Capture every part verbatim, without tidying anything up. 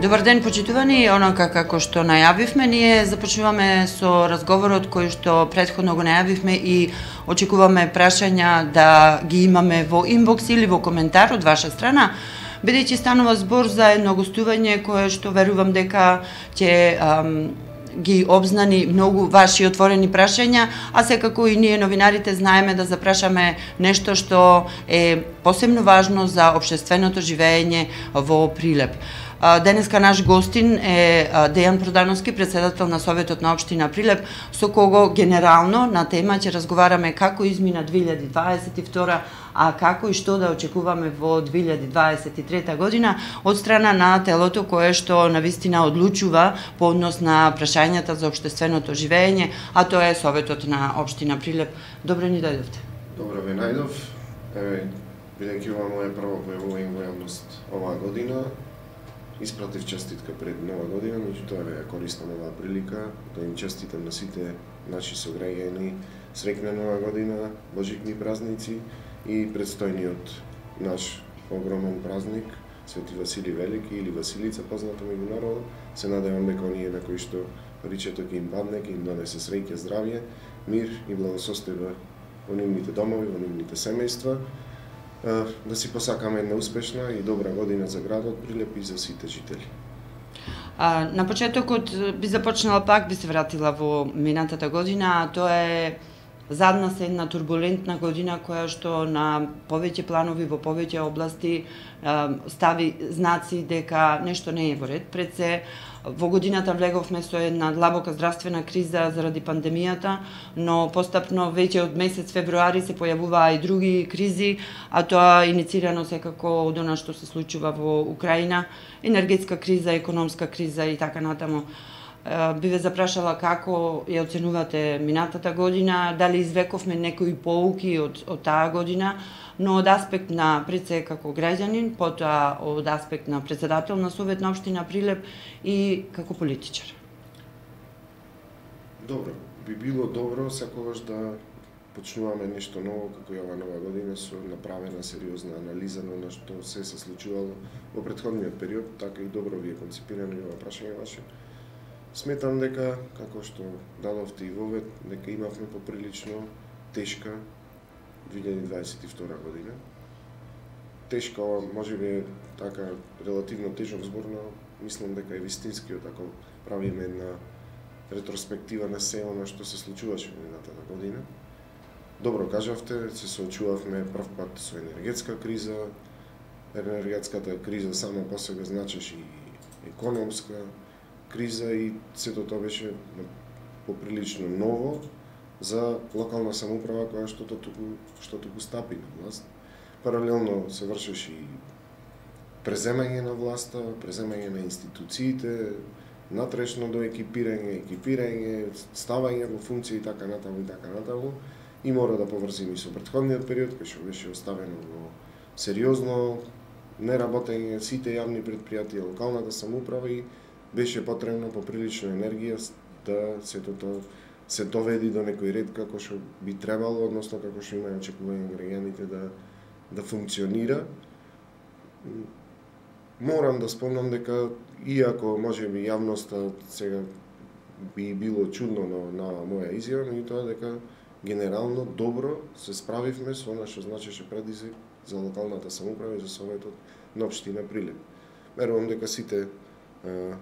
Добар ден, почитувани. Онака како што најавивме, ние започнуваме со разговорот кој што претходно го најавивме и очекуваме прашања да ги имаме во инбокс или во коментар од ваша страна, бидејќи станува збор за едно гостување кое што верувам дека ќе ам, ги обзнани многу ваши отворени прашања, а секако и ние новинарите знаеме да запрашаме нешто што е посебно важно за општественото живење во Прилеп. Денеска наш гостин е Дејан Продановски, председател на Советот на општина Прилеп, со кого генерално на тема ќе разговараме како измина две илјади дваесет и втора, а како и што да очекуваме во две илјади дваесет и трета година од страна на телото кое што навистина одлучува по однос на прашањата за општественото живење, а тоа е Советот на општина Прилеп. Добро ни дојдовте. Добро ве најдов. Еве, бидејќи ова моја прво појавување во јавност оваа година, испратив честитка пред нова година, меѓутоа ја користам оваа прилика да им честитам на сите наши сограѓани среќна нова година, божикни празници и предстојниот наш огромен празник Свети Васили Велики или Василица, позната меѓу народот. Се надевам дека оние на кои што паричето ќе им падне, ќе им донесе среќа, здравје, мир и благосостојба во нивните домови, во нивните семејства. Да си посакаме една успешна и добра година за градот Прилеп и за сите жители. А, на почетокот би започнала пак, би се вратила во минатата година, а тоа е задна се една турбулентна година која што на повеќе планови во повеќе области а, стави знаци дека нешто не е во ред. Пред се во годината влеговме со една длабока здравствена криза заради пандемијата, но постапно веќе од месец февруари се појавуваа и други кризи, а тоа иницирано секако од она што се случува во Украина, енергетска криза, економска криза и така натаму. Би ве запрашала како ја оценувате минатата година, дали извековме некои поуки од, од таа година, но од аспект на пред се како граѓанин, потоа од аспект на председател на Совет на општина Прилеп и како политичар. Добро, би било добро секогаш да почнуваме нешто ново како и ова нова година со направена сериозна анализа на она што се се случувало во претходниот период, така и добро ви е концепирано ова прашање ваше. Сметам дека, како што дадовте и вовед, дека имавме поприлично тешка две илјади дваесет и втора година. Тешка, ова може би е така релативно тежок збор, но мислам дека е вистинскиот ако правиме една ретроспектива на се она што се случуваше во минатата година. Добро кажавте, се соочувавме прв пат со енергетска криза. Енергетската криза само по себе значеше и економска криза и сето тоа беше поприлично ново за локална самоуправа која што туку што туку стапи на власт. Паралелно се вршеше и преземање на власта, преземање на институциите, натрешно до екипирање, екипирање, ставање во функции и така натаму и така натаму. И мора да поврзим и со претходниот период кој што беше оставено во сериозно неработење сите јавни претпријатија, локалната самоуправа и беше потребно поприлично енергија да сето тоа се доведи до некој ред како што би требало, односно како што имаат очекување граѓаните да да функционира. Морам да спомнам дека иако можеби јавноста сега би било чудно на, на моја изјава, меѓутоа дека генерално добро се справивме со она што значеше предизвик за локалната самоуправа и за Советот на општина Прилеп. Верувам дека сите а,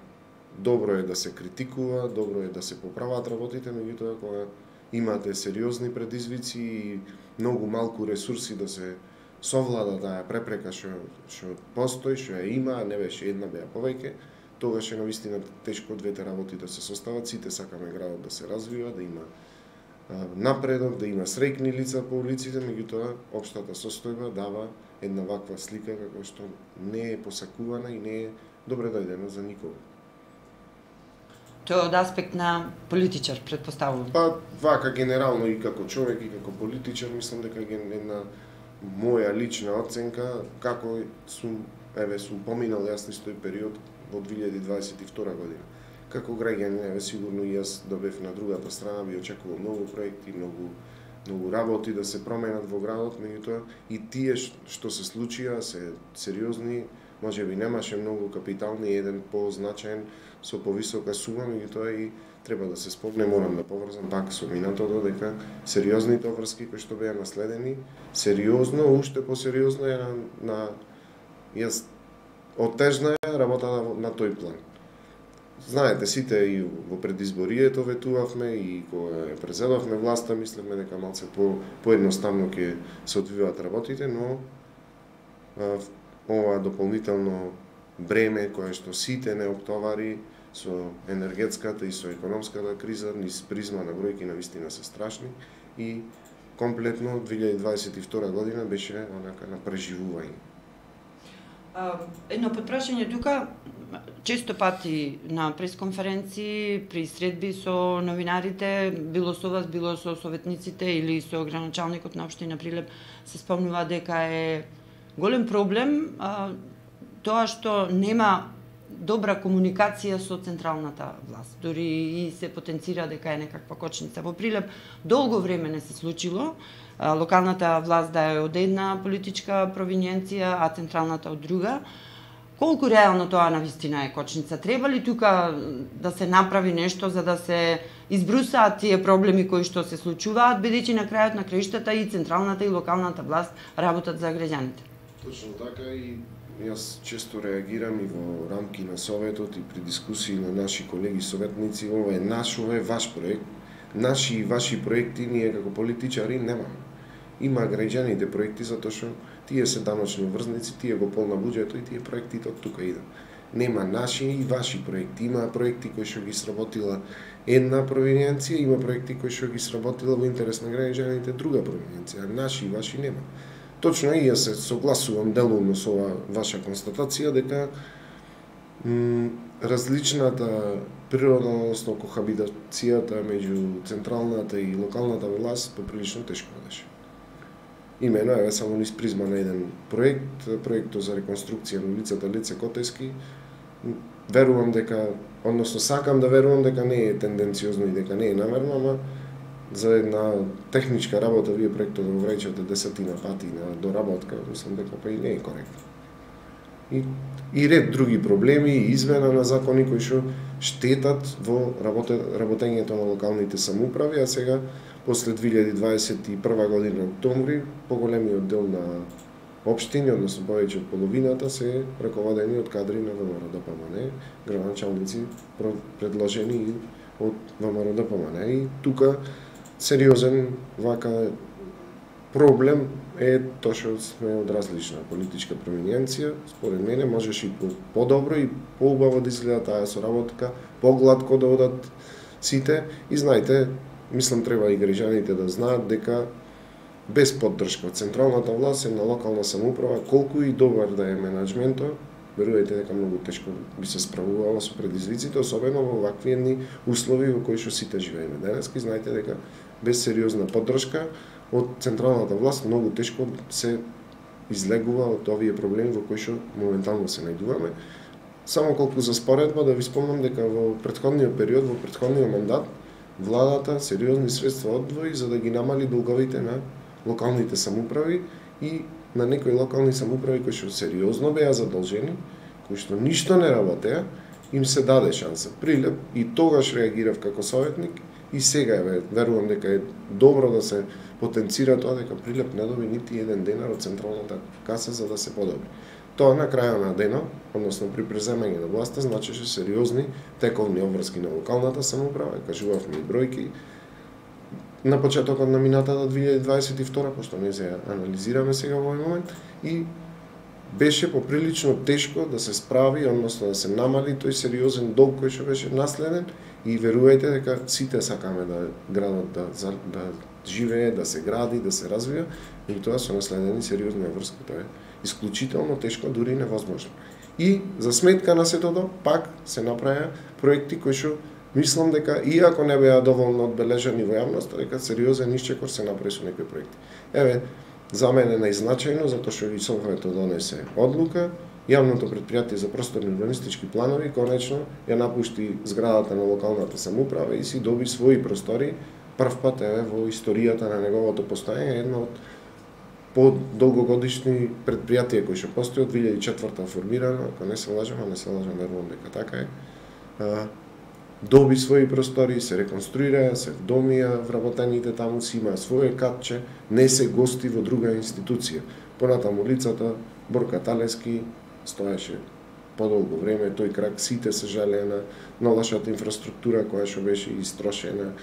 добро е да се критикува, добро е да се поправат работите, меѓутоа кога имате сериозни предизвици и многу малку ресурси да се совлада таа препрека што што постои, што ја има, а не беше една, беа повеќе, тогаш е навистина тешко двете работи да се состават. Сите сакаме градот да се развива, да има а, напредок, да има среќни лица по улиците, меѓутоа општата состојба дава една ваква слика како што не е посакувана и не е добре дојдена за никого. Тоа од аспект на политичар, претпоставувам. Па, вака генерално и како човек и како политичар, мислам дека е една моја лична оценка, како сум, еве, сум поминал јас низ тој период во две илјади дваесет и втора година. Како граѓанин, еве, сигурно и јас да бев на другата страна, би очекувал многу проекти, многу многу работи да се променат во градот, меѓутоа и тие што се случија се сериозни може би немаше многу капитални, еден позначаен со повисока сума, меѓутоа и треба да се спомне, морам да поврзам пак со минатото, дека сериозните обврски кои што беа наследени, сериозно, уште посериозно е на, на јас отежна е работата на тој план. Знаете, сите и во предизборието ветувавме и кога презедовме власта, мислевме дека малце по поедноставно ќе се одвиваат работите, но а, ова дополнително бреме кое што сите не оптовари со енергетската и со економската криза, низ призма на бројки на вистина се страшни и комплетно две илјади дваесет и втора година беше онака на преживување. Едно подпрашање тука, често пати на пресконференции, при средби со новинарите, било со вас, било со советниците или со граначалникот на општина Прилеп, се спомнува дека е голем проблем а, тоа што нема добра комуникација со централната власт. Дори и се потенцира дека е некаква кочница. Во Прилеп долго време не се случило. Локалната власт да е од една политичка провиненција, а централната од друга. Колку реално тоа навистина е кочница? Треба ли тука да се направи нешто за да се избрусаат тие проблеми кои што се случуваат, бидејќи на крајот на краиштата и централната и локалната власт работат за граѓаните? Точно така, и јас често реагирам и во рамки на Советот и при дискусии на наши колеги советници. Ова е наш, ова е ваш проект. Наши и ваши проекти ние како политичари немаме. Има граѓаните проекти затоа што тие се даночни врзници, тие го полна буџето и тие проектите од тука идат. Нема наши и ваши проекти. Има проекти кои што ги сработила една провиненција, има проекти кои што ги сработила во интерес на граѓаните друга провиненција. Наши и ваши нема. Точно и јас се согласувам делумно со ова ваша констатација дека различната природа, односно кохабитацијата меѓу централната и локалната власт поприлично тешко беше. Имено е само низ призма на еден проект, проектот за реконструкција на улицата Лице Котески. Верувам дека, односно сакам да верувам дека не е тенденциозно и дека не е намерно, ама за една техничка работа вие проектот да го враќате десетина пати на доработка, мислам дека па и не е коректно. И, и ред други проблеми и измена на закони кои што штетат во работе, работењето на локалните самоуправи, а сега после две илјади дваесет и прва година октомври поголемиот дел на општини, односно повеќе од половината, се раководени од кадри на ВМРО-ДПМН, граначалници предложени од ВМРО-ДПМН. И тука сериозен вака проблем е тоа што сме од различна политичка провиненција. Според мене можеше и подобро и поубаво да изгледа таа соработка, погладко да одат сите. И знаете, мислам треба и граѓаните да знаат дека без поддршка од централната власт, една локална самоуправа, колку и добар да е менаџментот, верувајте дека многу тешко би се справувала со предизвиците, особено во вакви едни услови во кои што сите живееме денеска. И знаете дека без сериозна поддршка од централната власт многу тешко се излегува од овие проблеми во кои што моментално се најдуваме. Само колку за споредба да ви спомнам дека во претходниот период, во претходниот мандат, владата сериозни средства одвои за да ги намали долговите на локалните самоуправи и на некои локални самоуправи кои што сериозно беа задолжени, кои што ништо не работеа, им се даде шанса. Прилеп и тогаш реагирав како советник и сега е, верувам дека е добро да се потенцира тоа дека Прилеп не доби нити еден денар од централната каса за да се подобри. Тоа на крајот на денот, односно при преземање на власта, значеше сериозни тековни обврски на локалната самоуправа, кажувавме и бројки. На почетокот на минатата две илјади дваесет и втора, пошто не се анализираме сега во овој момент, и беше поприлично тешко да се справи, односно да се намали тој сериозен долг кој што беше наследен, и верувајте дека сите сакаме да градот да, да живее, да се гради, да се развива, и тоа со наследени сериозни врски, тоа е исклучително тешко, дури невозможно. И за сметка на сето, пак се направија проекти кои што мислам дека, иако не беа доволно одбележани во јавноста, дека сериозен исчекор се направи со некои проекти. Еве, за мене најзначајно, затоа што и Советот донесе одлука, јавното претпријатие за просторни урбанистички планови конечно ја напушти зградата на локалната самоуправа и си доби своји простори. Прв пат еве во историјата на неговото постоење, една од по долгогодишни предпријатија кои што постои од две илјади и четврта формирано, ако не се лажам, а не се лажам, верувам дека така е. А, доби своји простори, се реконструира, се вдомија вработените таму, си има своје катче, не се гости во друга институција. Понатаму улицата Борка Талески стоеше подолго време, тој крак сите се жалеа на, на лошата инфраструктура која што беше истрошена.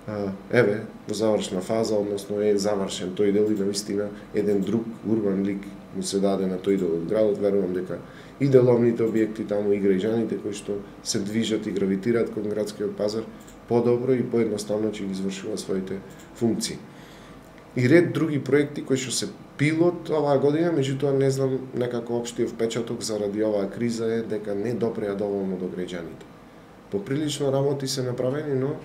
А, еве, во завршна фаза, односно е завршен тој дел и навистина еден друг урбан лик му се даде на тој дел од градот. Верувам дека и деловните објекти таму, и граѓаните кои што се движат и гравитираат кон градскиот пазар подобро и поедноставно ќе ги извршуваат своите функции. И ред други проекти кои што се пилот оваа година, меѓутоа не знам, некако општиот впечаток заради оваа криза е дека не допреа доволно до граѓаните. Поприлично работи се направени, но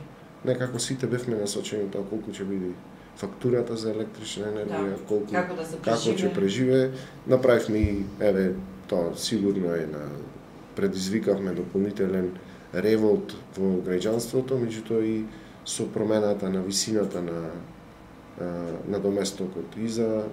некако сите бевме насочени тоа колку ќе биде фактурата за електрична енергија, да, колку како, да се како ќе преживее. Направивме и, еве, тоа сигурно е на предизвикавме дополнителен револт во граѓанството, меѓутоа и со промената на висината на на доместокот и за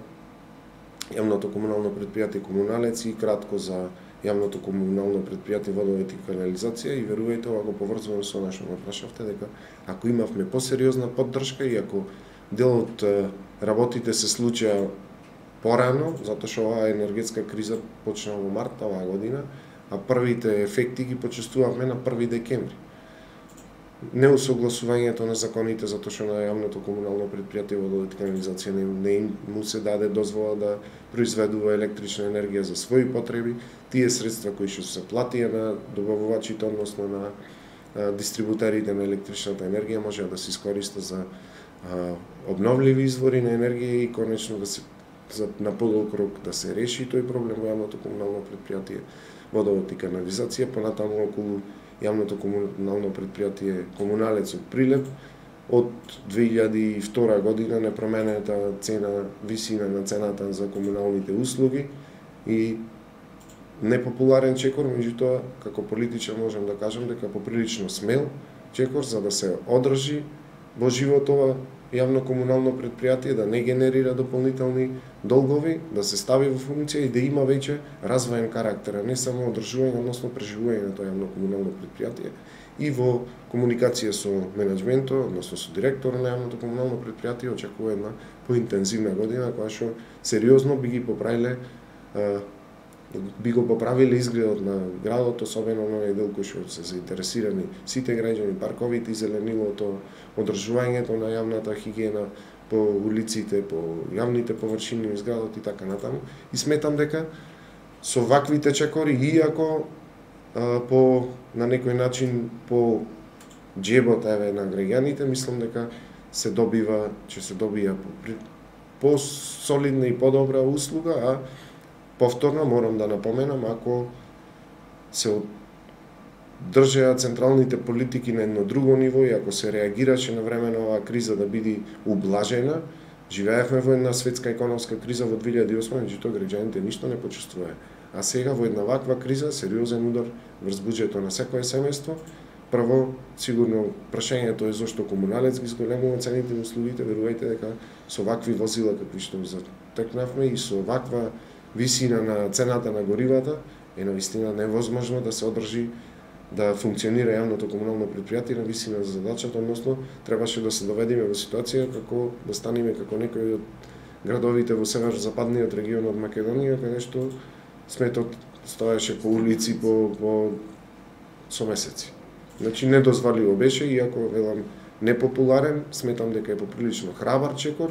јавното комунално предпријатие Комуналец и кратко за јавното комунално предпријатие Водовод и канализација, и верувајте, ова го поврзувам со она што ме прашавте, дека ако имавме посериозна поддршка и ако дел од работите се случија порано, затоа што оваа енергетска криза почна во март оваа година, а првите ефекти ги почувствувавме на први декември. Неусогласувањето на законите, затоа што на јавното комунално предпријатие Водовод и канализација не, не му се даде дозвола да произведува електрична енергија за своји потреби, тие средства кои што се платија на добавувачите, односно на а, дистрибутерите на електричната енергија, може да се искориста за а, обновливи извори на енергија и конечно да се за, на подолг рок да се реши тој проблем во јавното комунално предпријатие Водовод и канализација, понатаму околу јавното комунално предпријатие Комуналец од Прилеп од две илјади и втора година непроменета цена, висина на цената за комуналните услуги и непопуларен чекор, меѓутоа како политичар можам да кажам дека поприлично смел чекор за да се одржи во живот ова јавно комунално предпријатие, да не генерира дополнителни долгови, да се стави во функција и да има веќе развоен карактер, а не само одржување, односно преживување на тоа јавно комунално предпријатие. И во комуникација со менеджментот, односно со директорот на јавното комунално предпријатие, очекува една поинтензивна година која што сериозно би ги поправиле би го поправиле изгледот на градот, особено на овој дел кој што се заинтересирани сите граѓани, парковите и зеленилото, одржувањето на јавната хигиена по улиците, по јавните површини низ градот и така натаму. И сметам дека со ваквите чекори, иако а, по на некој начин по џебот еве на граѓаните, мислам дека се добива, ќе се добија по, по солидна и подобра услуга, а повторно морам да напоменам, ако се држеа централните политики на едно друго ниво и ако се реагираше на време на оваа криза да биде ублажена, живеевме во една светска економска криза во две илјади и осма, меѓутоа граѓаните ништо не почувствуваа. А сега во една ваква криза, сериозен удар врз буџетот на секое семејство, прво, сигурно прашањето е зошто Комуналец ги зголемува цените на услугите, верувајте дека со вакви возила какви што затекнавме и со ваква висина на цената на горивата е навистина невозможно да се одржи да функционира јавното комунално предпријатие на висина за задачата, односно требаше да се доведеме во ситуација како да станеме како некои од градовите во северозападниот регион од Македонија, каде што сметот стоеше по улици по, по со месеци. Значи недозволиво беше, иако велам непопуларен, сметам дека е поприлично храбар чекор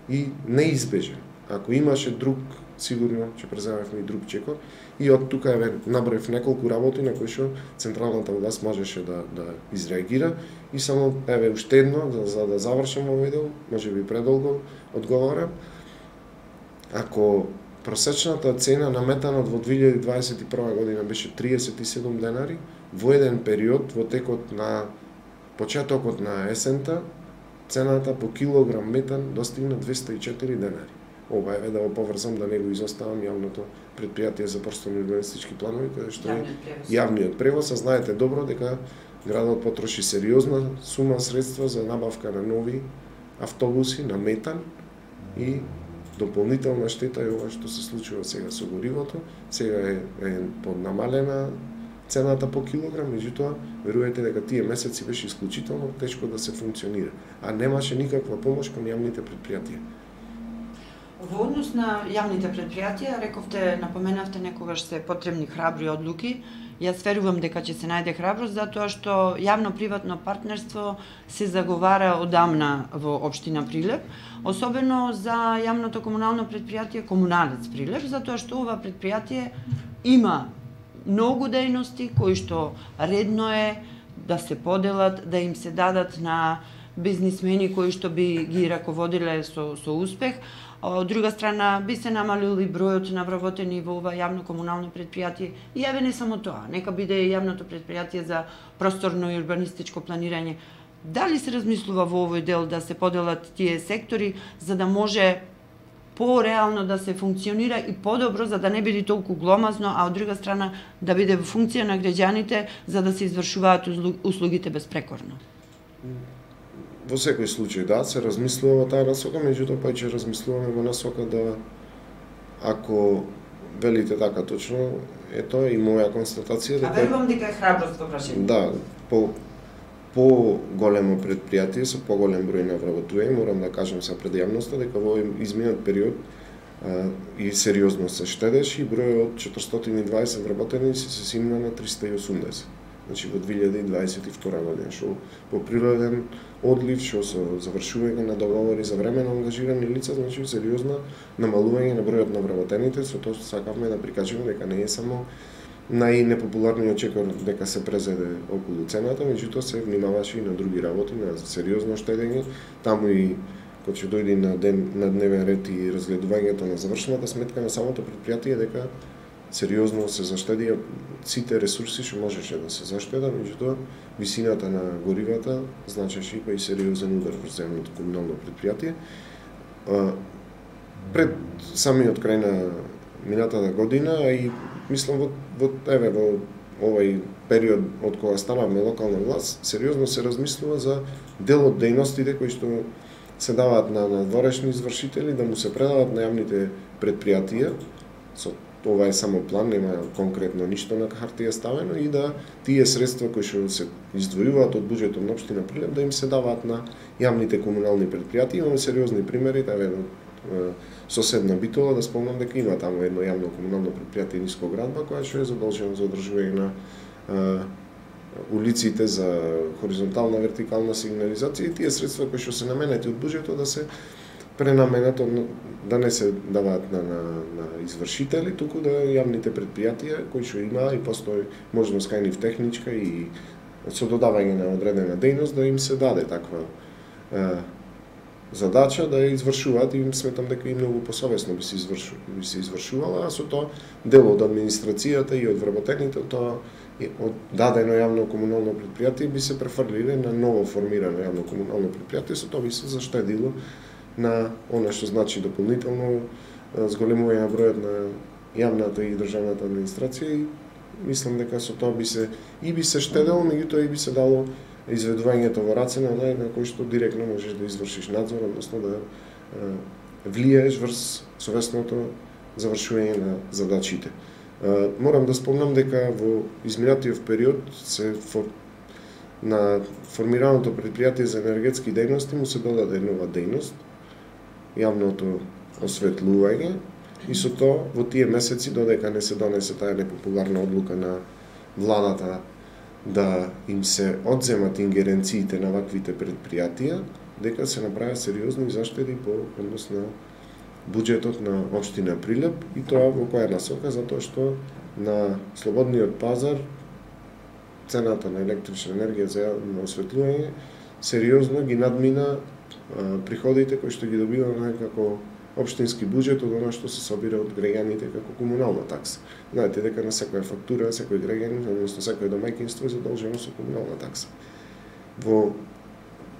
и неизбежен. Ако имаше друг, сигурно ќе преземевме и друг чекор. И од тука еве наброив неколку работи на кои што централната власт можеше да да изреагира и само еве уште едно за, за да завршам овој дел, можеби предолго одговарам. Ако просечната цена на метанот во две илјади дваесет и прва година беше триесет и седум денари, во еден период во текот на почетокот на есента цената по килограм метан достигна двесте и четири денари. Ова е да го поврзам да не го изоставам јавното предпријатие за просторни урбанистички планови, каде што е јавниот превоз, а знаете добро дека градот потроши сериозна сума средства за набавка на нови автобуси на метан и дополнителна штета е ова што се случува сега со горивото. Сега е, е поднамалена цената по килограм, меѓутоа верувате дека тие месеци беше исклучително тешко да се функционира, а немаше никаква помош кон јавните предпријатија. Во однос на јавните предпријатија, рековте, напоменавте некогаш се потребни храбри одлуки. Јас верувам дека ќе се најде храброст, затоа што јавно-приватно партнерство се заговара одамна во општина Прилеп, особено за јавното комунално предпријатие Комуналец Прилеп, затоа што ова предпријатие има многу дејности кои што редно е да се поделат, да им се дадат на бизнисмени кои што би ги раководиле со, со успех. Од друга страна, би се намалил и бројот на вработени во ова јавно комунално предпријатие. И еве не само тоа, нека биде и јавното предпријатие за просторно и урбанистичко планирање. Дали се размислува во овој дел да се поделат тие сектори за да може по-реално да се функционира и подобро, за да не биде толку гломазно, а од друга страна да биде во функција на граѓаните за да се извршуваат услугите безпрекорно? Во секој случај, да, се размислува во таа насока, меѓутоа па ќе размислуваме во насока да, ако велите така точно, е тоа и моја констатација. Дека... А верувам дека е храброст во прашање. Да, по, по големо предпријатие со поголем број на вработување, морам да кажам са пред јавноста дека во изминат период а, и сериозно се штедеше и бројот од четиристотини и дваесет вработеници се симна на триста и осумдесет. Значи во две илјади и дваесет и втора година, што по природен одлив, што со завршување на договори за времено ангажирани лица, значи сериозно намалување на бројот на вработените, со тоа сакавме да прикажеме дека не е само најнепопуларниот чекор дека се презеде околу цената, меѓутоа се внимаваше и на други работи, на сериозно штедење, таму и кога ќе дојде на ден на дневен ред и разгледувањето на завршената сметка на самото предпријатие дека сериозно се заштедија сите ресурси што можеше да се заштеда, меѓутоа висината на горивата значеше и па и сериозен удар врз јавното комунално предпријатие. Пред самиот крај на минатата година, а и мислам во, во еве во овој период од кога станавме локална власт, сериозно се размислува за дел од дејностите кои што се даваат на надворешни извршители да му се предават на јавните предпријатија. Со ова е само план, нема конкретно ништо на хартија ставено, и да тие средства кои што се издвојуваат од буџетот на општина Прилеп да им се даваат на јавните комунални предпријатија. Имаме сериозни примери, да ведам соседна Битола, да спомнам дека има таму едно јавно комунално предпријатие Нискоградба која што е задолжено за одржување на а, улиците за хоризонтална вертикална сигнализација и тие средства кои што се наменети од буџетот да се пренаменат, да не се даваат на, на, на извршители, туку да јавните предпријатија кои што има и постои можност кај нив техничка и со додавање на одредена дејност да им се даде таква е, задача да ја извршуваат, и сметам дека и многу посовесно би се извршу, би се извршувала, а со тоа дел од администрацијата и од вработените тоа од дадено јавно комунално предпријатие би се префрлиле на ново формирано јавно комунално предпријатие, со тоа би се заштедило на она што значи дополнително зголемување на бројот на јавната и државната администрација, и мислам дека со тоа би се и би се штедело, меѓутоа и би се дало изведувањето во раце на онaj на кој што директно можеш да извршиш надзор, односно да е, влијаеш врз совесното завршување на задачите. Е, морам да спомнам дека во изминатиот период се фор... на формираното предпријатие за енергетски дејности му се додаде нова дејност, јавното осветлување, и со тоа во тие месеци додека не се донесе таа непопуларна одлука на владата да им се одземат ингеренциите на ваквите предпријатија, дека се направи сериозни заштеди по однос на буџетот на општина Прилеп, и тоа во која насока, затоа што на слободниот пазар цената на електрична енергија за јавно осветлување сериозно ги надмина а, приходите кои што ги добиваме како општински буџет од она што се собира од граѓаните како комунална такса. Знаете дека на секоја фактура, секој граѓанин, односно секој домаќинство е задолжено со комунална такса. Во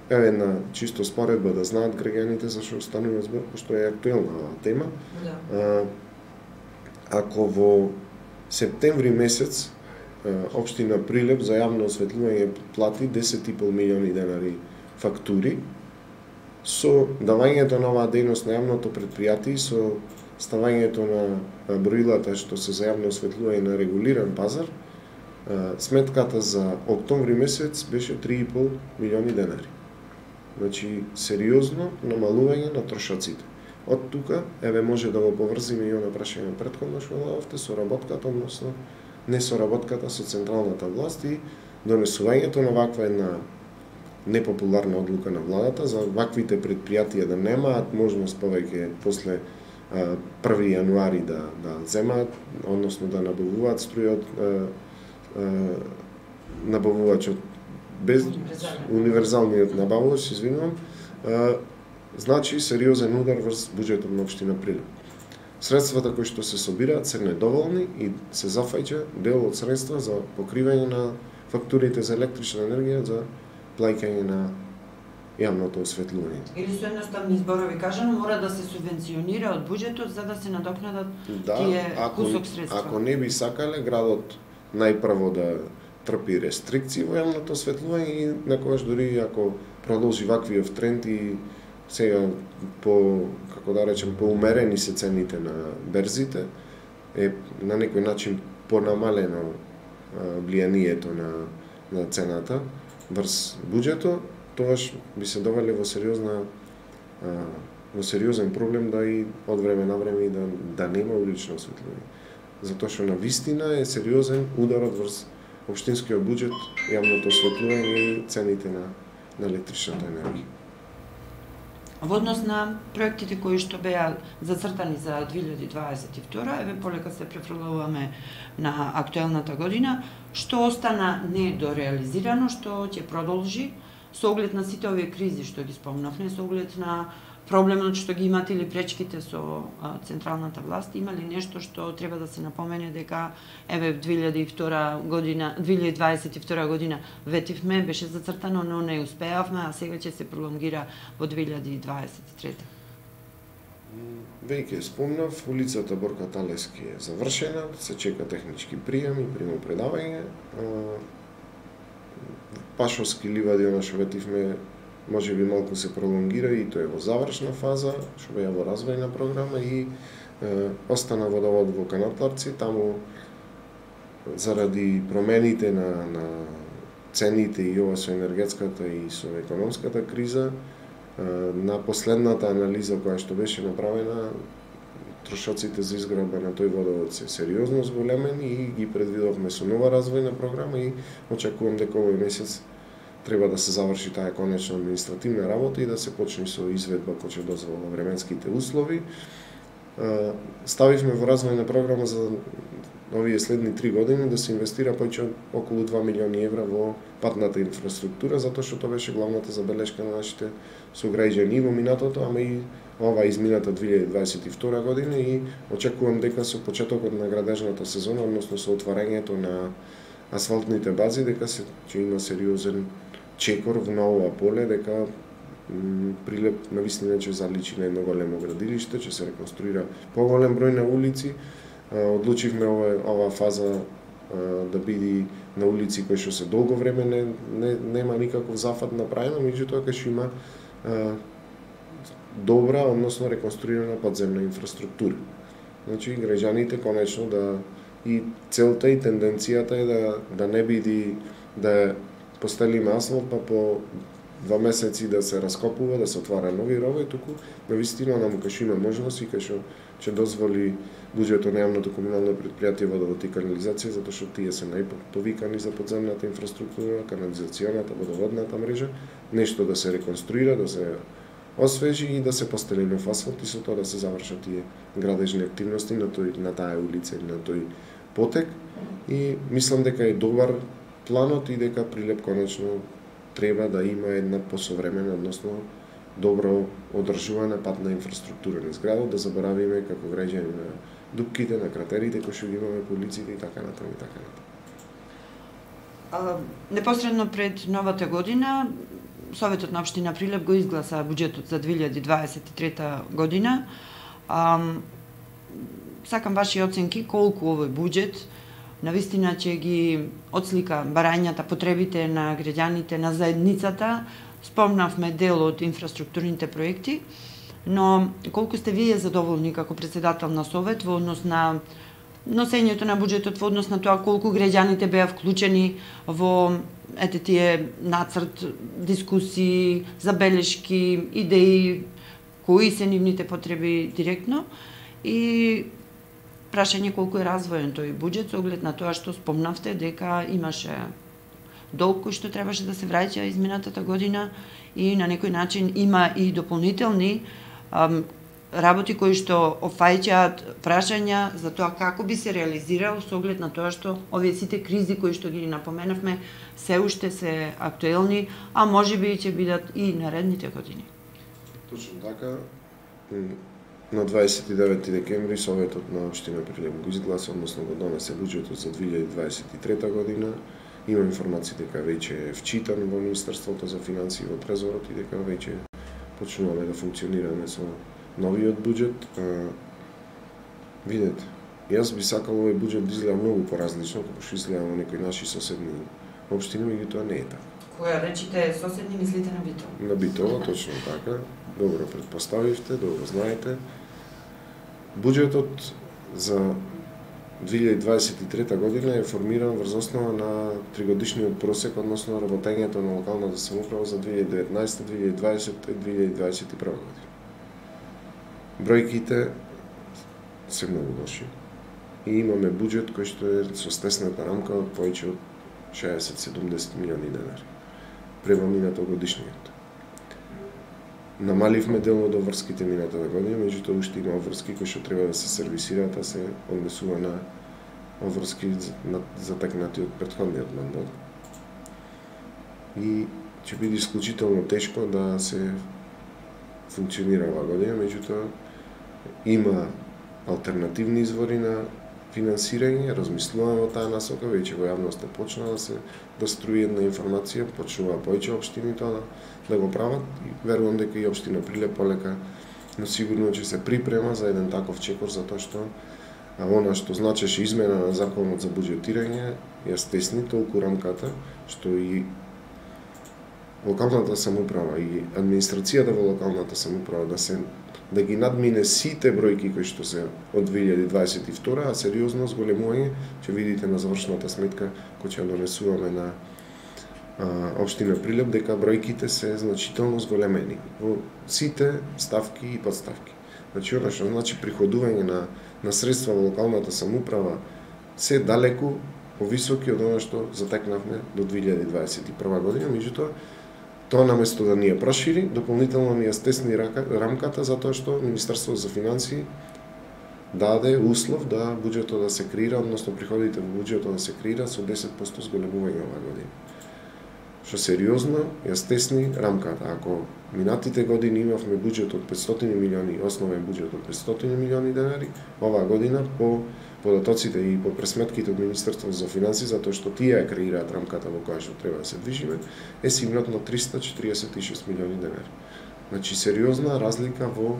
еве една чисто споредба да знаат граѓаните зашто станува збор, што е актуелна оваа тема. Да. А, ако во септември месец општина Прилеп за јавно осветлување плати десет и пол милиони денари фактури, Со давањето на оваа дејност на јавното предпријатие, со ставањето на броилата што се за јавно осветлување на регулиран пазар, сметката за октомври месец беше три и пол милиони денари. Значи, сериозно намалување на трошоците. Од тука, еве може да го поврзиме и она прашање претходно што дадовте со работката, односно не со работката со централната власт и донесувањето на ваква една непопуларна одлука на владата за ваквите предпријатија да немаат можност повеќе после први јануари да да земаат, односно да набавуваат струја од набавувачот без универзалниот набавувач, извинувам, значи сериозен удар врз буџетот на општина Прилеп. Средствата кои што се собираат се недоволни и се зафаќа дел од средства за покривање на фактурите за електрична енергија за плаќање на јавното осветлување. Или со едноставни зборови кажано, мора да се субвенционира од буџетот за да се надокнадат да, тие ако, кусок средства. Ако не би сакале градот најпрво да трпи рестрикции во јавното осветлување и некогаш дури ако продолжи ваквиот тренд и сега по, како да речем, поумерени се цените на берзите, е на некој начин понамалено влијанието на, на цената врз буџетот, тогаш би се довеле во сериозна во сериозен проблем да и од време на време да, да нема улично осветлување. Затоа што на вистина е сериозен ударот врз општинскиот буџет, јавното осветлување и цените на, на електричната енергија. Во однос на проектите кои што беа зацртани за две илјади дваесет и втора, еве полека се префрлуваме на актуелната година, што остана недореализирано, што ќе продолжи со оглед на сите овие кризи што ги спомнавме, со оглед на проблемот што ги имате или пречките со а, централната власт, има ли нешто што треба да се напомене дека еве две илјади и втора година, две илјади дваесет и втора година ветивме, беше зацртано, но не успеавме, а сега ќе се пролонгира во две илјади дваесет и трета. Веќе спомнав, улицата Борка Талески е завршена, се чека технички прием и примопредавање. Пашовски ливади, она што ветивме, може би малку се пролонгира и тоа е во завршна фаза, што беа во развојна програма и е, остана водовод во Канатларци, таму заради промените на, на цените и ова со енергетската и со економската криза, е, на последната анализа која што беше направена, трошоците за изградба на тој водовод се сериозно зголемени и ги предвидовме со нова развојна програма и очекувам дека овој месец треба да се заврши таа конечно административна работа и да се почне со изведба кој ќе дозвола временските услови. Ставивме во развојна програма за овие следни три години да се инвестира повеќе околу два милиони евра во патната инфраструктура, затоа што тоа беше главната забелешка на нашите сограѓани во минатото, ама и ова измината две илјади дваесет и втора година и очекувам дека со почетокот на градежната сезона, односно со отварањето на асфалтните бази, дека се ќе има сериозен чекор на ова поле, дека Прилеп на вистина ќе заличи на едно големо градилиште, ќе се реконструира поголем број на улици. Одлучивме ова, ова фаза да биде на улици кои што се долго време не, не нема никаков зафат направено, меѓутоа ќе има а, добра, односно реконструирана подземна инфраструктура. Значи граѓаните конечно да и целта и тенденцијата е да да не биде да постелиме асфалт па по два месеци да се раскопува, да се отвара нови рови, туку навистина нам кај што има можност и кај што ќе дозволи буџетот на јавното комунално предпријатие водовод и канализација, затоа што тие се најповикани за подземната инфраструктура, канализационата, водоводната мрежа, нешто да се реконструира, да се освежи и да се постели нов асфалт и со тоа да се завршат тие градежни активности на тој на таа улица и на тој потек. И мислам дека е добар планот и дека Прилеп конечно треба да има една посовремена, односно добро одржувана патна инфраструктура на зградот, да заборавиме како граѓани на дупките, на кратерите кои што ги имаме по улиците и така натаму и така натаму. А, непосредно пред новата година Советот на општина Прилеп го изгласа буџетот за две илјади дваесет и трета година. А, сакам ваши оценки колку овој буџет навистина ќе ги отслика барањата, потребите на граѓаните, на заедницата, спомнавме дел од инфраструктурните проекти, но колку сте вие задоволни како председател на Совет во однос на носењето на буџетот, во однос на тоа колку граѓаните беа вклучени во ете тие нацрт, дискусии, забелешки, идеи, кои се нивните потреби директно и прашање колку е развоен тој буџет со оглед на тоа што спомнавте дека имаше долг кој што требаше да се враќа изминатата година и на некој начин има и дополнителни ам, работи кои што офаќаат прашања за тоа како би се реализирал со оглед на тоа што овие сите кризи кои што ги напоменавме се уште се актуелни, а можеби ќе бидат и наредните години. Точно така. На дваесет и девети декември Советот на општина Прилеп го изгласа, односно го донесе буџетот за две илјади дваесет и трета година. Има информации дека веќе е вчитан во Министерството за финансии во Трезорот и дека веќе почнуваме да функционираме со новиот буџет. А, видете, јас би сакал овој буџет да изгледа многу поразлично како што изгледа во некои наши соседни општини, меѓутоа не е така. Кога речите соседни, мислите на Битола? На Битола, точно така. Добро предпоставивте, добро знаете. Буџетот за две илјади дваесет и трета година е формиран врз основа на тригодишниот просек, односно работењето на локалната самоуправа за две илјади деветнаесета, две илјади дваесета и две илјади дваесет и прва година. Бројките се многу лоши и имаме буџет кој што е со стесната рамка од повеќе од шеесет до седумдесет милиони денари према минатогодишниот. Намаливме дел од обврските минатата година, меѓутоа уште има обврски кои што треба да се сервисираат, а се однесува на обврски затекнати од претходниот мандат. И ќе биде исклучително тешко да се функционира оваа година, меѓутоа има алтернативни извори на финансирање, размислуваме во таа насока, веќе во јавноста почна да се да струи една информација, почнува повеќе општини тоа да, да го прават и верувам дека и општина Прилеп полека, но сигурно ќе се припрема за еден таков чекор, затоа што а она што значеше измена на законот за буџетирање ја стесни толку рамката што и локалната самоуправа и администрацијата во локалната самоуправа да се да ги надмине сите бројки кои што се од две илјади дваесет и втора, а сериозно зголемување, ќе видите на завршната сметка која ќе донесуваме на а, општина Прилеп, дека бројките се значително зголемени во сите ставки и подставки. Значи, она што значи приходување на, на средства во локалната самоуправа се далеку повисоки од она што затекнавме до две илјади дваесет и прва година, меѓутоа тоа наместо да ни ја прошири, дополнително ни ја стесни рамката, затоа што Министерството за финансии даде услов да буџетот да се креира, односно приходите во буџетот да се креира со десет проценти зголемување оваа година. Што сериозно ја стесни рамката. Ако минатите години имавме буџет од петстотини милиони, основен буџет од петстотини милиони денари, оваа година по податоците и по пресметките од Министерството за финансии, затоа што тие ја креираат рамката во која што треба да се движиме, е симнат на триста четиридесет и шест милиони денари. Значи, сериозна разлика во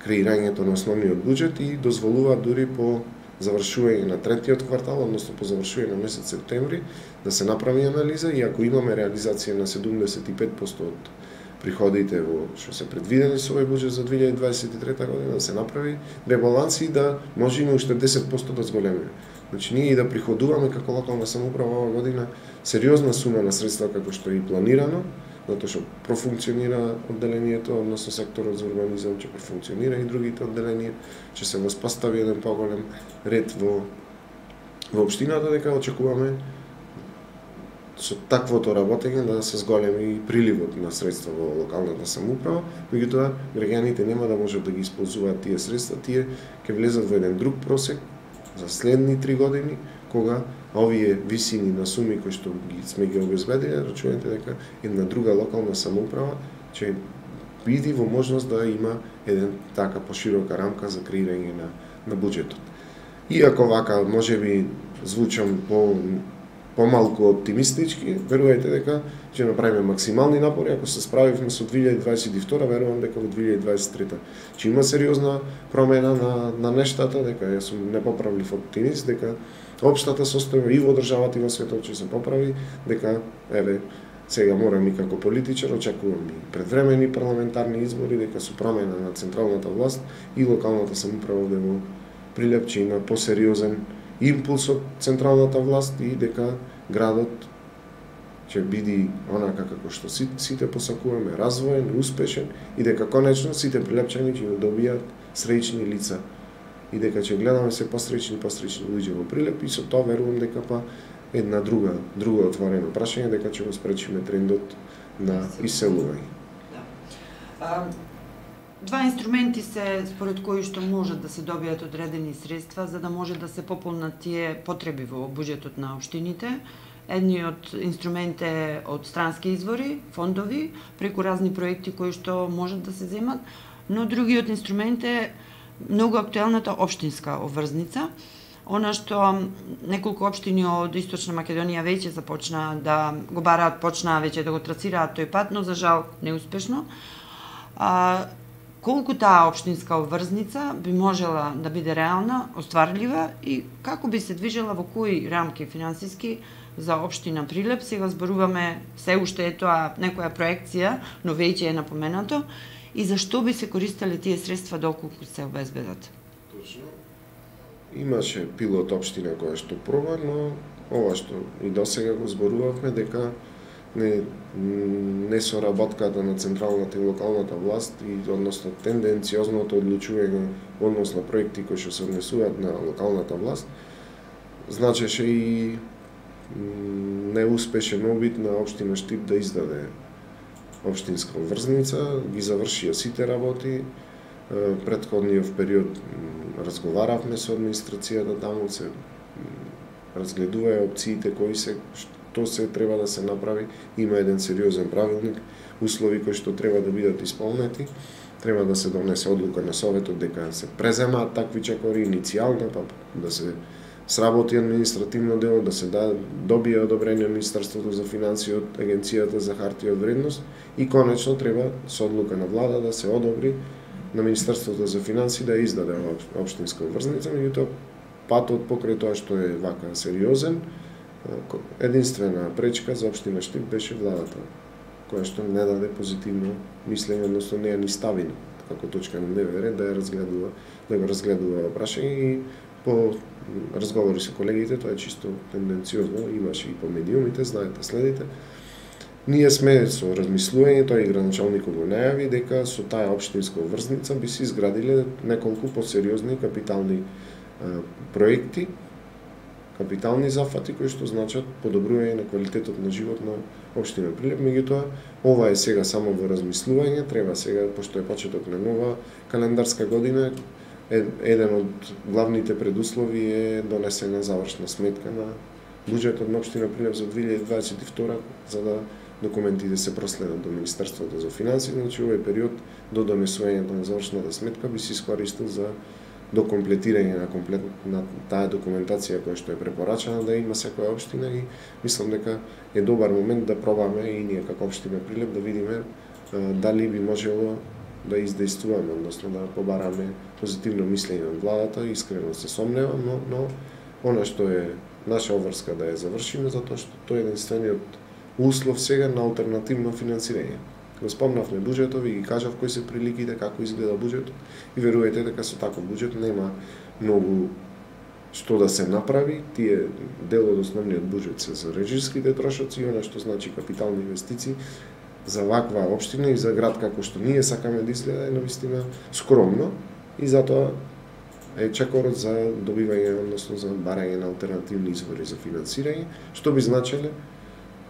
креирањето на основниот буџет и дозволува дури по завршување на третиот квартал, односно по завршување на месец септември, да се направи анализа и ако имаме реализација на седумдесет и пет проценти од приходите во што се предвидени со овој буџет за две илјади дваесет и трета година, да се направи ребаланс и да можеме уште десет проценти да зголемиме. Значи ние и да приходуваме како локална самоуправа оваа година сериозна сума на средства како што е и планирано, затоа што профункционира одделението, односно секторот за урбанизам ќе профункционира и другите одделенија, ќе се воспостави еден поголем ред во во општината, дека очекуваме со таквото работење да се зголеми приливот на средства во локалната самоуправа, меѓутоа граѓаните нема да можат да ги исползуваат тие средства, тие ќе влезат во еден друг просек за следни три години, кога овие висини на суми кои што ги сме ги обезбедили, рачунете дека една друга локална самоуправа ќе биде во можност да има еден така поширока рамка за креирање на на буџетот. Иако вака можеби звучам по помалку оптимистички, верувајте дека ќе направиме максимални напори. Ако се справивме со две илјади дваесет и втора, верувам дека во две илјади дваесет и трета ќе има сериозна промена на, на нештата, дека јас сум непоправлив оптимист, дека општата состојба и во државата и во светот ќе се поправи, дека еве Сега морам и како политичар, очекувам и предвремени парламентарни избори, дека со промена на централната власт и локалната самоуправа овде во Прилеп ќе има посериозен импулс од централната власт и дека градот ќе биде онака како што сите посакуваме, развоен, успешен и дека конечно сите прилепчани ќе добијат среќни лица и дека ќе гледаме се посреќни посреќни луѓе во Прилеп и со тоа верувам дека па една друга друго отворено прашање дека ќе го спречиме трендот на иселување. Да. Два инструменти се според кои што можат да се добијат одредени средства за да може да се пополнат тие потреби во буџетот на општините. Едниот инструмент е од странски извори, фондови, преку разни проекти кои што можат да се земат, но другиот инструмент е многу актуелната општинска обврзница, она што неколку општини од Источна Македонија веќе започна да го бараат, почнаа веќе да го трасираат тој пат, но за жал неуспешно. А, колку таа општинска обврзница би можела да биде реална, остварлива и како би се движела во кои рамки финансиски за општина Прилеп? Сега зборуваме, се уште е тоа некоја проекција, но веќе е напоменато. И зашто би се користеле тие средства доколку се обезбедат? Точно. Имаше пилот општина која што проба, но ова што и досега го зборувавме дека не, не соработката на централната и локалната власт и односно тенденциозното одлучување односно проекти кои што се однесуваат на локалната власт значеше и неуспешен обид на општина Штип да издаде општинска обврзница, ги завршија сите работи. Претходниот период разговаравме со администрацијата таму, се разгледуваја опциите кои се што се треба да се направи. Има еден сериозен правилник, услови кои што треба да бидат исполнети. Треба да се донесе одлука на советот дека се преземаат такви чекори иницијално, па да се сработи административно дело, да се да, добие одобрение од Министерството за финансии од Агенцијата за хартија од вредност и конечно треба со одлука на влада да се одобри на Министерството за финансии да издаде општинска обврзница, меѓутоа патот покрај тоа што е вака сериозен, единствена пречка за општина Штип беше владата, која што не даде позитивно мислење, односно не ја ни стави како точка на дневен ред да ја разгледува, да го разгледува прашање и по разговори со колегите, тоа е чисто тенденциозно, имаше и по медиумите, знаете, следите. Ние сме со размислување, тој и градоначалникот го најави дека со таа општинска обврзница би се изградиле неколку посериозни капитални а, проекти, капитални зафати кои што значат подобрување на квалитетот на живот на општина Прилеп. Меѓутоа, ова е сега само во размислување, треба сега, пошто е почеток на нова календарска година, еден од главните предуслови е донесена завршна сметка на буџетот на општина Прилеп за две илјади дваесет и втора, за да документите се проследат до Министерството за финансии, значи овој период до донесувањето на завршната сметка би се искористил за докомплетирање на комплет на таа документација која што е препорачана да има секоја општина и мислам дека е добар момент да пробаме и ние како општина Прилеп да видиме а, дали би можело да издействуваме, односно да побараме позитивно мислење од владата, искрено се сомневам, но, но она што е наша обврска да ја завршиме, затоа што тоа е единствениот услов сега на алтернативно финансирање. Го спомнавме буџетот и ги кажав кои се приликите, како изгледа буџетот и верувајте дека со таков буџет нема многу што да се направи. Тие дел од основниот буџет се за режиските трошоци и она што значи капитални инвестиции за ваква општина и за град како што ние сакаме да изгледа е навистина скромно и затоа е чекорот за добивање, односно за барање на алтернативни извори за финансирање, што би значеле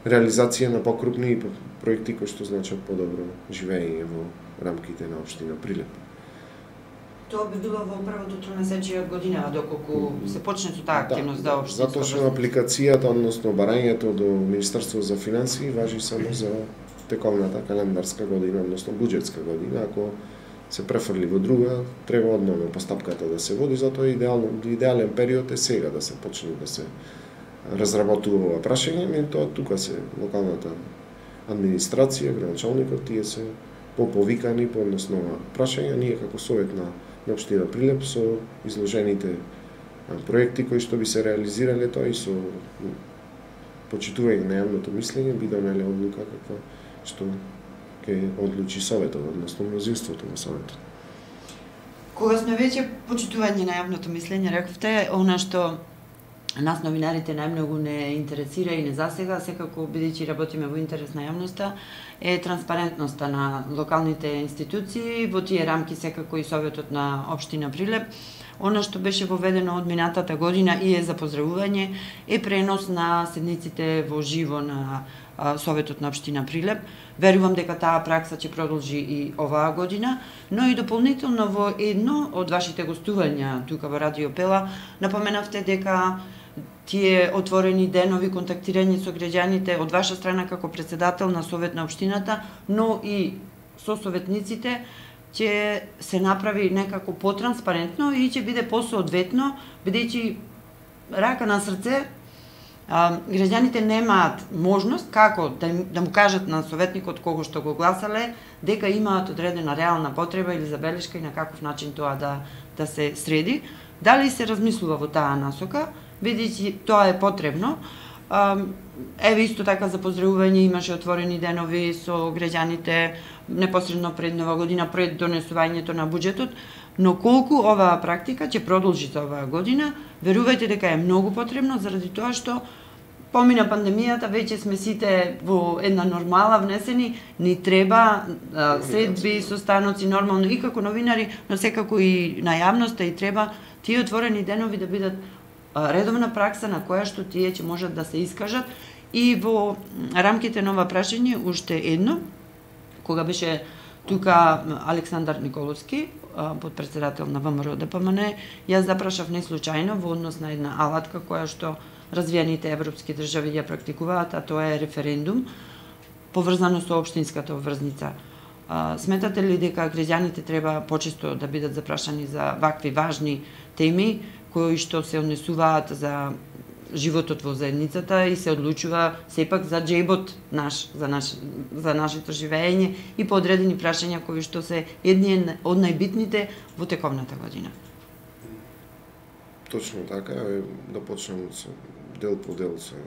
реализација на покрупни проекти кои што значат подобро живење во рамките на општина Прилеп. Тоа би било во првото тромесечие од година, доколку се почне со таа активност да, да општинска. Затоа што апликацијата, односно барањето до Министерството за финансии важи само за тековната календарска година, односно буџетска година. Ако се префрли во друга, треба одново постапката да се води, затоа идеално, идеален период е сега да се почне да се разработува ова прашање, меѓутоа тука се локалната администрација, градоначалникот, тие се поповикани по односно прашања. Ние како совет на, на општина Прилеп со изложените проекти кои што би се реализирале, тоа и со почитување на јавното мислење би донеле одлука каква што ќе одлучи советот, односно мнозинството на советот. Кога сме веќе почитување на јавното мислење, рековте, она што нас новинарите најмногу не интересира и не засега, секако бидејќи работиме во интерес на јавноста, е транспарентноста на локалните институции, во тие рамки секако и Советот на општина Прилеп. Она што беше воведено од минатата година и е за поздравување е пренос на седниците во живо на Советот на општина Прилеп. Верувам дека таа пракса ќе продолжи и оваа година, но и дополнително во едно од вашите гостувања тука во Радио Пела напоменавте дека тие отворени денови, контактирање со граѓаните од ваша страна како председател на Совет на општината, но и со советниците, ќе се направи некако потранспарентно и ќе биде посоодветно, бидејќи рака на срце, а, граѓаните немаат можност како да, им, да му кажат на советникот кого што го гласале, дека имаат одредена реална потреба или забелешка и на каков начин тоа да, да се среди. Дали се размислува во таа насока, бидејќи тоа е потребно. Еве исто така за поздравување имаше отворени денови со граѓаните непосредно пред Нова година, пред донесувањето на буџетот, но колку оваа практика ќе продолжи за оваа година, верувајте дека е многу потребно заради тоа што помина пандемијата, веќе сме сите во една нормала внесени, ни треба средби, состаноци нормално и како новинари, но секако и на јавноста и треба тие отворени денови да бидат редовна пракса на која што тие ќе можат да се искажат. И во рамките на ова прашање уште едно, кога беше тука Александар Николовски, подпредседател на ВМРО Д П М Н, јас запрашав неслучајно во однос на една алатка која што развиените европски држави ја практикуваат, а тоа е референдум, поврзано со општинската обврзница. Сметате ли дека граѓаните треба почесто да бидат запрашани за вакви важни теми, кои што се однесуваат за животот во заедницата и се одлучува сепак за џебот наш, за, наш, за нашето живење и по одредени прашања кои што се едни од најбитните во тековната година? Точно така, да почнем со дел по дел со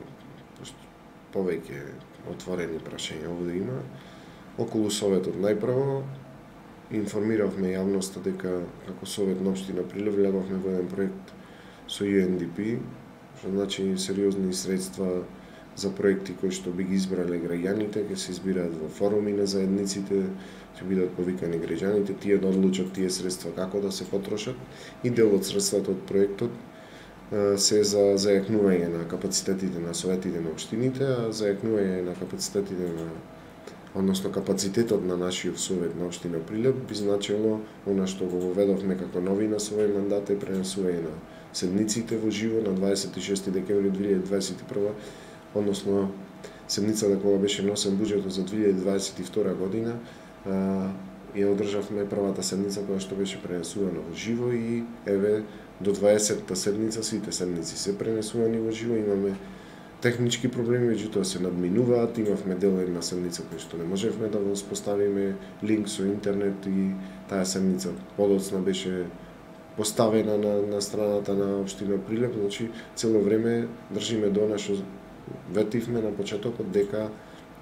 повеќе отворени прашања овде има. Околу Советот најпрво информиравме јавноста дека како Совет на општина Прилеп влегавме во еден проект со Ю Ен Ди Пи, што значи сериозни средства за проекти кои што би ги избрале граѓаните, ќе се избираат во форуми на заедниците, ќе бидат повикани граѓаните, тие да одлучат тие средства како да се потрошат и дел од средствата од проектот се за зајакнување на капацитетите на советите на општините, а зајакнување на капацитетите на односно капацитетот на нашиот Совет на општина Прилеп би значило она што го воведовме како новина со овој мандат е пренесување на седниците во живо на дваесет и шести декември две илјади дваесет и прва, односно седницата кога беше носен буџетот за две илјади дваесет и втора година, ја одржавме првата седница која што беше пренесувана во живо и еве до дваесетта седница сите седници се пренесувани во живо, имаме технички проблеми, меѓутоа се надминуваат, имавме дел една седница која што не можевме да воспоставиме линк со интернет и таа седница подоцна беше поставена на, на страната на општина Прилеп, значи цело време држиме до она што ветивме на почетокот дека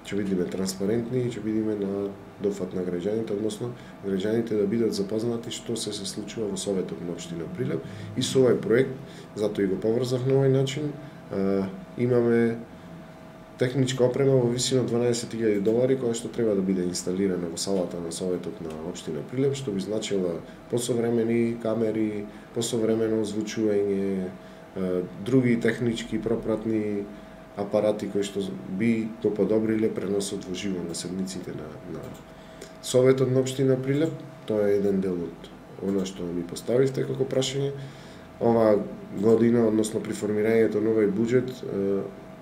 ќе бидеме транспарентни и ќе бидеме на дофат на граѓаните, односно граѓаните да бидат запознати што се се случува во Советот на општина Прилеп и со овој проект, затоа и го поврзав на овој начин. А, имаме техничка опрема во висина дванаесет илјади долари која што треба да биде инсталирана во салата на Советот на општина Прилеп, што би значила посовремени камери, посовремено озвучување, други технички пропратни апарати кои што би го подобриле преносот во живо на седниците на, на Советот на општина Прилеп. Тоа е еден дел од она што ми поставивте како прашање. Ова година, односно при формирањето на овој буџет,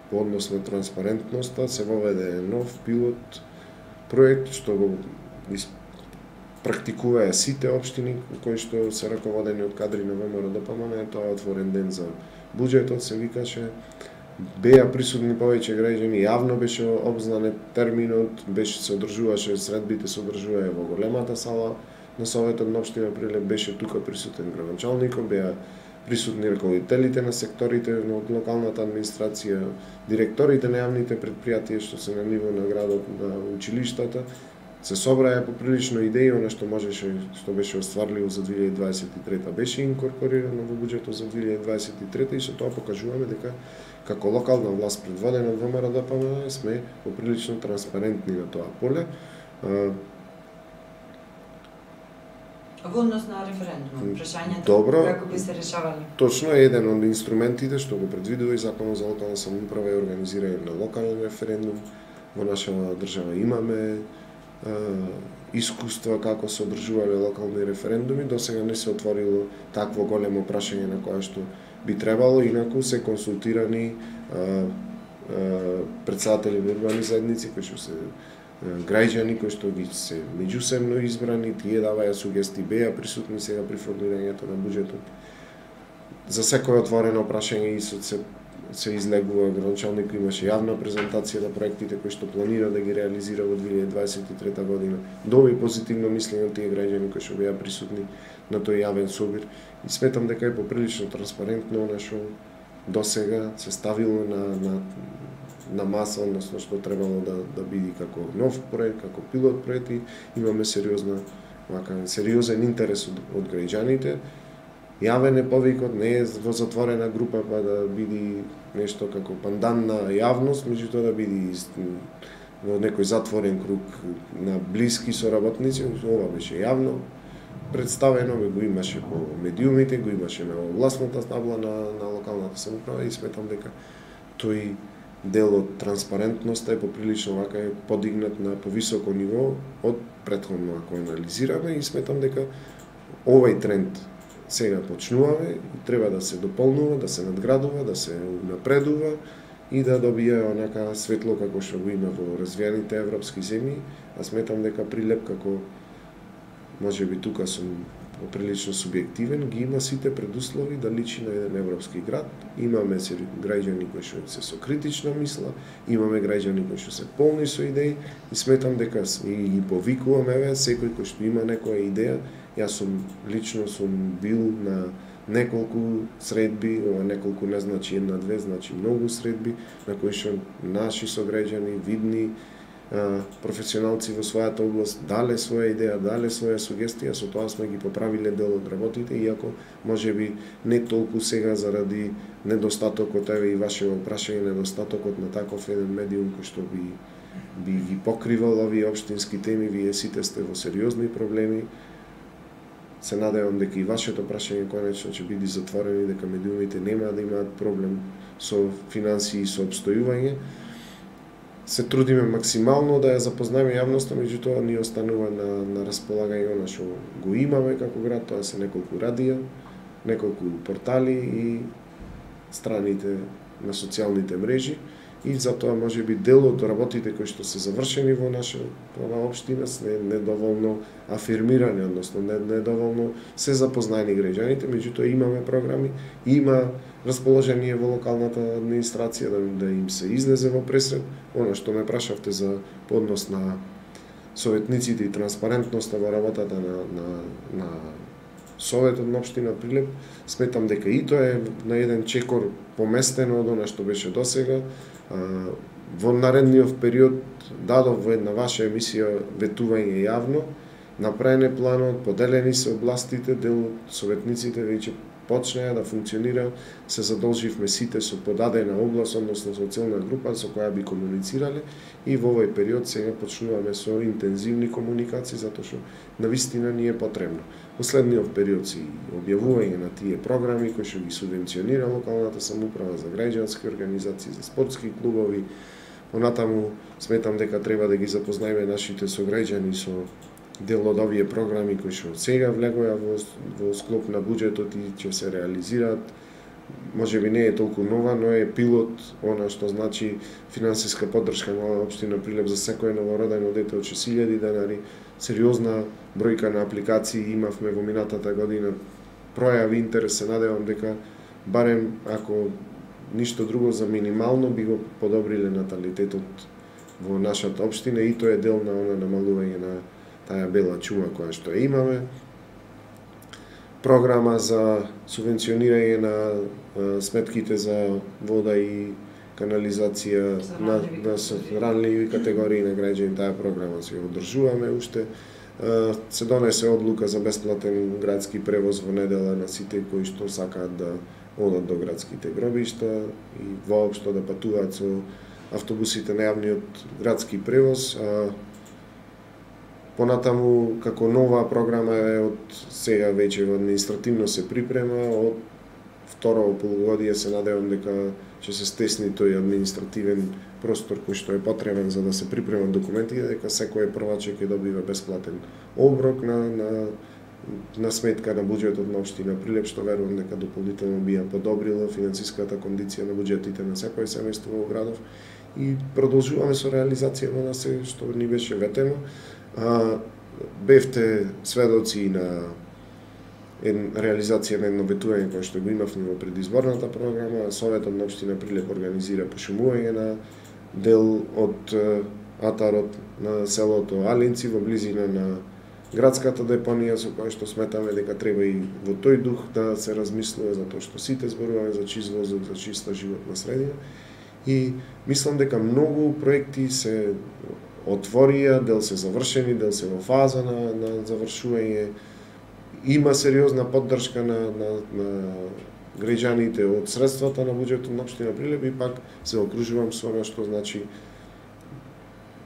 по однос на транспарентноста, се воведе нов пилот проект што го практикуваа сите општини кои што се раководени од кадри на ВМРО Д П М Н. Тоа е отворен ден за буџетот, се викаше. Беа присутни повеќе граѓани, јавно беше обзнане терминот, беше се одржуваше, средбите се одржуваа во големата сала на Советот на општина Прилеп, беше тука присутен градоначалникот, беа присутни раководителите на секторите од локалната администрација, директорите на јавните предпријатија што се на ниво на градот, на училиштата. Се собраа поприлично идеи, она што можеше, што беше остварливо за две илјади дваесет и трета беше инкорпорирано во буџетот за две илјади дваесет и трета и со тоа покажуваме дека како локална власт предводена од ВМРО-ДПМНЕ сме поприлично транспарентни на тоа поле. Во однос на референдум, прашањата Добро, како би се решавали? Точно е еден од инструментите што го предвидува и Законот за локална самоуправа и организирање на локален референдум. Во нашава држава имаме е, искуства како се одржувале локални референдуми, досега не се отворило такво големо прашање на кое што би требало, инаку се консултирани е, е, председатели на урбани заедници кои што се граѓани кои што ги се меѓусебно избрани, тие даваја сугестии, беа присутни сега при формирањето на буџетот. За секој отворено прашање и се, се излегува градоначалник, имаше јавна презентација на проектите кои што планира да ги реализира во две илјади дваесет и трета година. Доби позитивно мислење од тие граѓани кои што беа присутни на тој јавен собир и сметам дека е поприлично транспарентно она што досега се ставило на, на на маса, односно што требало да да биде како нов проект, како пилот проект и имаме сериозна, вака сериозен интерес од, од граѓаните. Јавен е повикот, не е во затворена група па да биде нешто како пандан на јавност, меѓутоа да биде во некој затворен круг на блиски соработници, ова беше јавно представено, го имаше по медиумите, го имаше на властната табла на, на локалната самоуправа и сметам дека тој дел од транспарентноста е поприлично вака е подигнат на повисоко ниво од претходно ако анализираме и сметам дека овој тренд сега почнуваме и треба да се дополнува, да се надградува, да се напредува и да добие онака светло како што го има во развиените европски земји, а сметам дека Прилеп како можеби тука сум прилично субјективен, ги има сите предуслови да личи на еден европски град. Имаме граѓани кои што се со критична мисла, имаме граѓани кои што се полни со идеи и сметам дека и ги повикуваме еве секој кој што има некоја идеја. Јас сум лично сум бил на неколку средби, ова неколку не значи една две, значи многу средби на кои што наши сограѓани видни професионалци во својата област дале своја идеја, дале своја сугестија, со тоа сме ги поправиле дел од работите, иако можеби не толку сега заради недостатокот, еве и вашето прашање, недостатокот на таков еден медиум кој што би би ги покривал овие општински теми, вие сите сте во сериозни проблеми. Се надевам дека и вашето прашање конечно ќе биде затворено и дека медиумите нема да имаат проблем со финансии и со обстојување. Се трудиме максимално да ја запознаеме јавноста, меѓутоа ни останува на, на располагање она што го имаме како град, тоа се неколку радија, неколку портали и страните на социјалните мрежи и затоа може би дел од работите кои што се завршени во нашата општина се недоволно афирмирани, односно недоволно се запознаени граѓаните, меѓутоа имаме програми, има расположение во локалната администрација да, да им се излезе во пресред. Она што ме прашавте за поднос на советниците и транспарентноста во работата на, на, на Советот на општина Прилеп, сметам дека и тоа е на еден чекор поместено од она што беше досега. Во наредниот период дадов во една ваша емисија ветување јавно, направен е планот, поделени се областите, дел од советниците веќе почнеа да функционира, се задолживме сите со подадена област, односно со целна група со која би комуницирале и во овој период сега почнуваме со интензивни комуникации затоа што навистина ни е потребно. Во следниот период си објавување на тие програми кои што ги субвенционира локалната самоуправа за граѓански организации, за спортски клубови. Понатаму сметам дека треба да ги запознаеме нашите сограѓани со дел од овие програми кои што сега влегоа во, во склоп на буџетот и ќе се реализираат. Може би не е толку нова, но е пилот, она што значи финансиска поддршка на општина Прилеп за секој новородено дете од шест илјади денари. Сериозна бројка на апликации имавме во минатата година. Пројави интерес, се надевам дека барем ако ништо друго за минимално би го подобриле наталитетот во нашата општина и тоа е дел на она намалување на таа бела чума која што ја имаме. програма за субвенционирање на сметките за вода и канализација на, на ранливи категории на граѓани. Таа програма се одржуваме уште. Се донесе одлука за бесплатен градски превоз во недела на сите кои што сакаат да одат до градските гробишта и воопшто да патуваат со автобусите на јавниот градски превоз. Понатаму, како нова програма е од сега веќе административно се припрема, од второ полугодие се надевам дека ќе се стесни тој административен простор кој што е потребен за да се припремат документите, дека секој прваче ќе добива бесплатен оброк на, на, на сметка на буџетот на општина Прилеп, што верувам дека дополнително би ја подобрила финансиската кондиција на буџетите на секој семејство во градов. И продолжуваме со реализацијата на се што ни беше ветено. А, бевте сведоци на ен, реализација на едно ветување кое што го имавме во предизборната програма. Советот на општина Прилеп организира пошумување на дел од атарот на селото Алинци во близина на градската депонија, со која што сметаме дека треба и во тој дух да се размислува, затоа што сите зборуваме за чист воздух, за чиста животна средина. И мислам дека многу проекти се отворија, дел се завршени, дел се во фаза на, на завршување. Има сериозна поддршка на, на, на граѓаните од средствата на буџетот на општина Прилеп и пак се окружувам со она што значи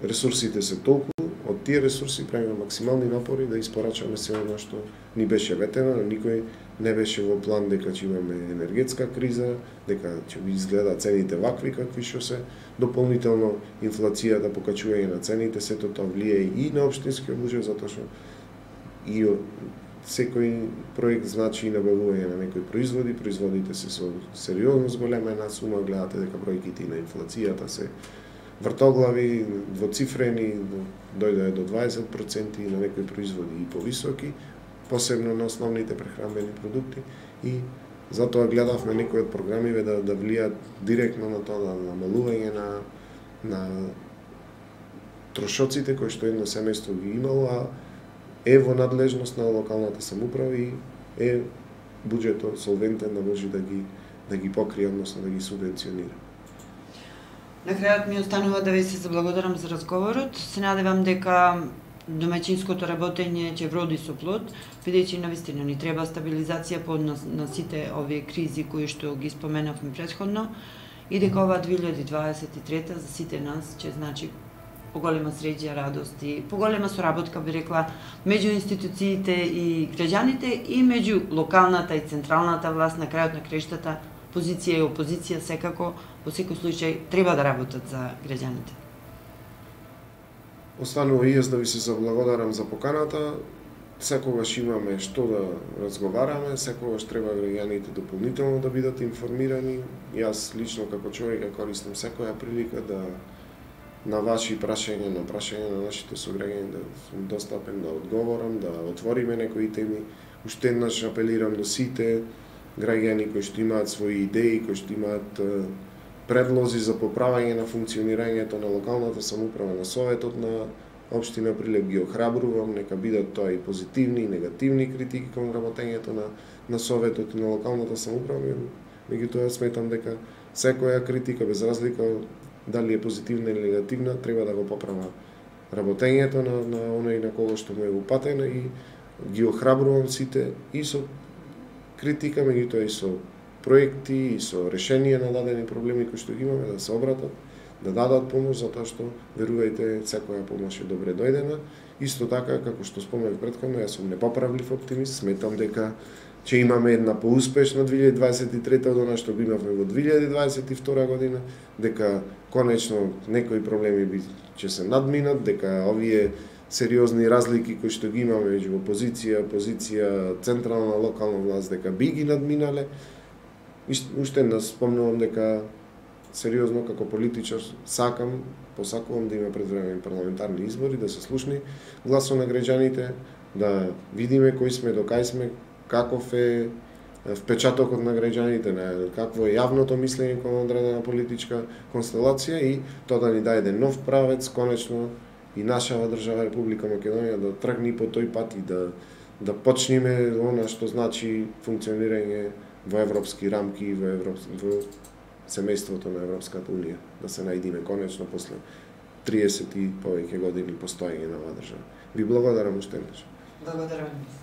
ресурсите се толку, од тие ресурси правиме максимални напори да испорачаме се она што ни беше ветено, никој не беше во план дека ќе имаме енергетска криза, дека ќе би изгледа цените вакви какви што се, дополнително инфлацијата, покачување на цените, сето тоа влијае и на општинскиот буџет, затоа што и секој проект значи и набавување на некои производи, производите се со сериозно зголемена сума, гледате дека бројките на инфлацијата се вртоглави, двоцифрени, дојде до дваесет проценти на некои производи и повисоки, посебно на основните прехранбени продукти, и затоа гледавме некои од програмиве да, да влијат директно на тоа, на намалување на, на трошоците кои што едно семејство ги имало, а е во надлежност на локалната самоуправа и е буџетот солвентен да може да ги, да ги покрие, односно да ги субвенционира. На крајот ми останува да ви се заблагодарам за разговорот. Се надевам дека домаќинското работење ќе вроди со плод, бидејќи навистина ни треба стабилизација по на, на сите овие кризи кои што ги споменавме претходно, и дека ова две илјади дваесет и трета за сите нас ќе значи поголема среќа, радост и поголема соработка, би рекла, меѓу институциите и граѓаните и меѓу локалната и централната власт. На крајот на крештата позиција и опозиција секако во секој случај треба да работат за граѓаните. Останува и јас да ви се заблагодарам за поканата. Секогаш имаме што да разговараме, секогаш треба граѓаните дополнително да бидат информирани. Јас лично како човек користам секоја прилика да на ваши прашања, на прашања на нашите сограѓани да сум достапен, да одговорам, да отвориме некои теми. Уште еднаш апелирам до сите граѓани кои што имаат своји идеи, кои што имаат предлози за поправање на функционирањето на локалната самоуправа, на Советот на општина Прилеп, ги охрабрувам, нека бидат тоа и позитивни и негативни критики кон работењето на, на Советот и на локалната самоуправа. Меѓутоа сметам дека секоја критика, без разлика дали е позитивна или негативна, треба да го поправа работењето на, на оној на кого што му е упатено, и ги охрабрувам сите и со критика, меѓутоа и со проекти и со решение на дадени проблеми кои што ги имаме, да се обратат, да дадат помош, затоа што, верувајте, секоја помош е добре дојдена. Исто така, како што споменав претходно, јас сум непоправлив оптимист, сметам дека ќе имаме една поуспешна две илјади дваесет и трета од она што го имавме во две илјади дваесет и втора година, дека конечно некои проблеми би ќе се надминат, дека овие сериозни разлики кои што ги имаме меѓу опозиција, позиција, централна, локална власт, дека би ги надминале. Уште еднаш спомнувам дека сериозно како политичар сакам, посакувам да има предвремените парламентарни избори, да се слушни гласот на граѓаните, да видиме кои сме, до кај сме, каков е впечатокот на граѓаните, на какво е јавното мислење кон одредена политичка констелација, и тоа да ни даде нов правец, конечно и нашава држава Република Македонија да тргне по тој пат и да да почнеме она што значи функционирање во европски рамки и во европски во семејството на Европската унија, да се најдиме конечно после триесет и повеќе години постоење на оваа држава. Ви благодарам уште еднаш. Благодарам.